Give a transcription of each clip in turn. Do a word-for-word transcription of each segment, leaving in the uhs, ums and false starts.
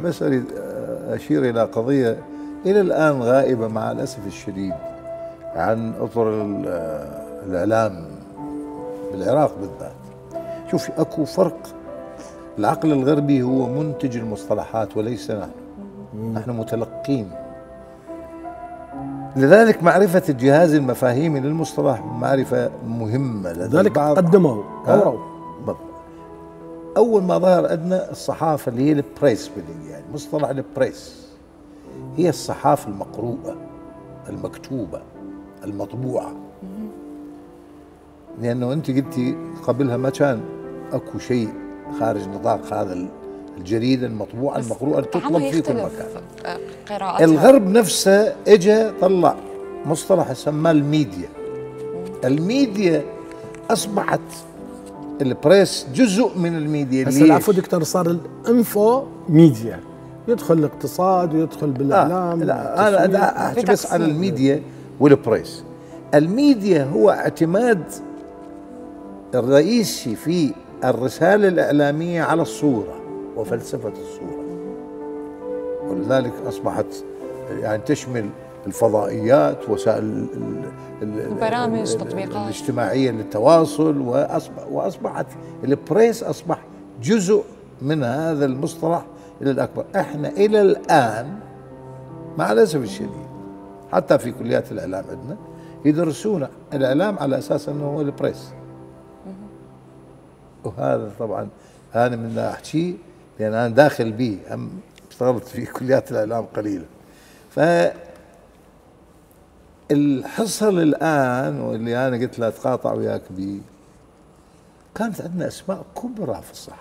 بس اريد اشير الى قضيه الى الان غائبه مع الاسف الشديد عن اطر الاعلام بالعراق بالذات. شوف اكو فرق، العقل الغربي هو منتج المصطلحات وليس نحن، نحن متلقين. لذلك معرفة الجهاز المفاهيمي للمصطلح معرفة مهمة. لذلك قدموا طوروا. أول ما ظهر عندنا الصحافة اللي هي البريس بالإنجليزي، يعني مصطلح البريس هي الصحافة المقروءة المكتوبة المطبوعة. لأنه أنت قلتي قبلها ما كان أكو شيء خارج نطاق هذا الجريدة المطبوعة المقروءة تطلب في كل مكان. قراءتها. الغرب نفسه اجى طلع مصطلح سماه الميديا. الميديا أصبحت البريس جزء من الميديا. هسه العفو دكتور، صار الانفو ميديا، يدخل الاقتصاد ويدخل بالاعلام. آه لا انا احكي بس على الميديا والبريس. الميديا هو اعتماد الرئيسي في الرسالة الإعلامية على الصورة وفلسفة الصورة، ولذلك أصبحت يعني تشمل الفضائيات، وسائل البرامج، تطبيقات الاجتماعية للتواصل، وأصبح وأصبحت البريس أصبح جزء من هذا المصطلح إلى الأكبر. إحنا إلى الآن مع الأسف الشديد حتى في كليات الإعلام عندنا يدرسون الإعلام على أساس أنه هو البريس، وهذا طبعا أنا من أحكي لأن أنا داخل به، هم اشتغلت في كليات الإعلام قليلا. ف الحصل الآن واللي أنا قلت له أتقاطع وياك به، كانت عندنا أسماء كبرى في الصحافة.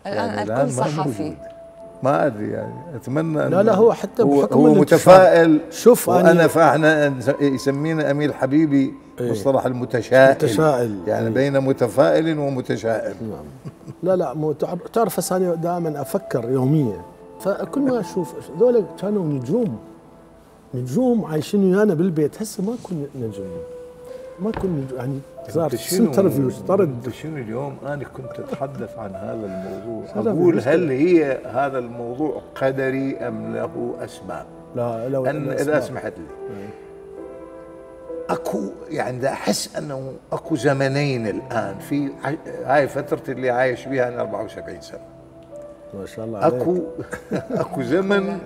الآن يعني الكل صحفي، ما ادري يعني اتمنى. لا لا هو حتى هو, بحكم هو متفائل. شوف انا فاحنا يسمينا امير حبيبي ايه؟ مصطلح المتشائل، متشائل يعني ايه؟ بين متفائل ومتشائم. نعم. لا لا مو تعرف هسه انا دائما افكر يوميا، فكل ما اشوف ذولا كانوا نجوم نجوم عايشين ويانا بالبيت، هسه ما كنا نجوم ما كنا يعني صار انترفيو طرد. شنو اليوم انا كنت اتحدث عن هذا الموضوع، اقول هل هي هذا الموضوع قدري ام له اسباب؟ لا لو أن اذا سمحت لي م. اكو يعني دا احس انه اكو زمنين الان في هاي فترتي اللي عايش بها انا أربعة وسبعين سنة ما شاء الله عليك. اكو اكو زمن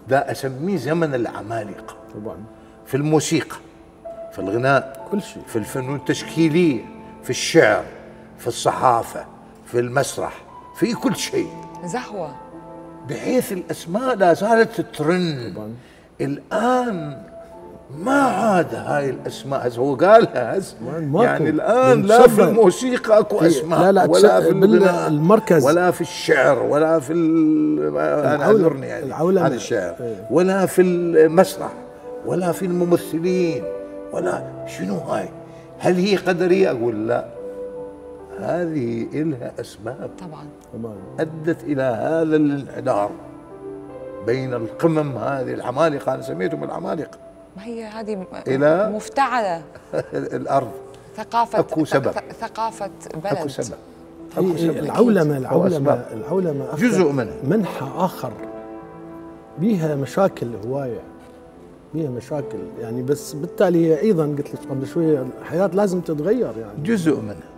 دا اسميه زمن العمالقة طبعا، في الموسيقى، في الغناء، كل شيء، في الفنون التشكيلية، في الشعر، في الصحافة، في المسرح، في كل شيء زهوة، بحيث الأسماء لا زالت ترن. الآن ما عاد هاي الأسماء، هسه هو قالها هسه يعني الآن لا في الموسيقى أكو أسماء، لا لا ولا في الغناء المركز، ولا في الشعر، ولا في أنا أعذرني يعني عن الشعر، ولا في المسرح، ولا في الممثلين، ولا شنو هاي؟ هل هي قدرية؟ أقول لا، هذه إلها أسباب طبعا أدت إلى هذا الانحدار بين القمم هذه العمالقة، أنا سميتهم العمالقة. ما هي هذه إلى مفتعلة الأرض. ثقافة أكو سبب، ثقافة بلد، أكو سبب، أكو سبب. العولمة العولمة العولمة جزء منها، منحى آخر بيها مشاكل هواية، بيها مشاكل يعني، بس بالتالي هي ايضا قلت لك قبل شويه الحياه لازم تتغير يعني جزء منها،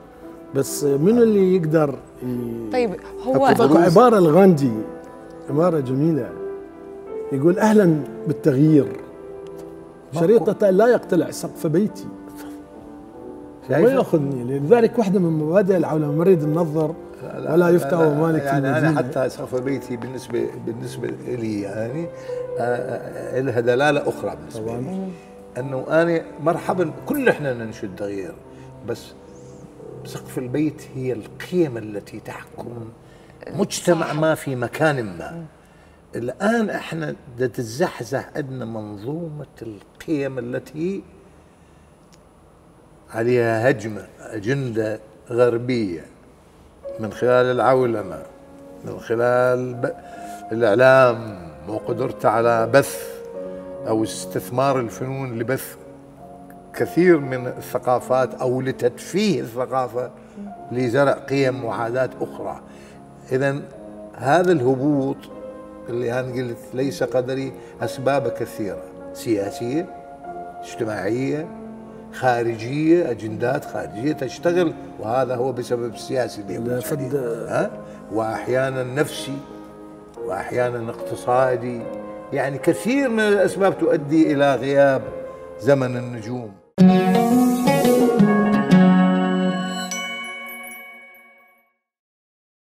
بس من اللي يقدر ي... طيب هو اكو عباره الغاندي، عباره جميله يقول اهلا بالتغيير، شريطه لا يقتلع سقف بيتي ما ياخذني. لذلك واحده من مبادئ العولمه مريد النظر ولا يفتى ومالك يعني انا حتى سقف بيتي بالنسبه بالنسبه لي يعني آه لها دلاله اخرى بالنسبه طبعاً. لي انه انا مرحبا كل احنا ننشد تغيير، بس سقف البيت هي القيم التي تحكم مجتمع ما في مكان ما. الان احنا بدها تتزحزح عندنا منظومه القيم التي عليها هجمه اجنده غربيه من خلال العولمه، من خلال الاعلام وقدرته على بث او استثمار الفنون لبث كثير من الثقافات او لتدفيه الثقافه لزرع قيم وعادات اخرى. إذا هذا الهبوط اللي أنا قلت ليس قدري أسباب كثيرة، سياسية، اجتماعية، خارجية، أجندات خارجية تشتغل، وهذا هو بسبب السياسي اللي فد... ها؟ وأحيانا نفسي، وأحيانا اقتصادي، يعني كثير من الأسباب تؤدي إلى غياب زمن النجوم.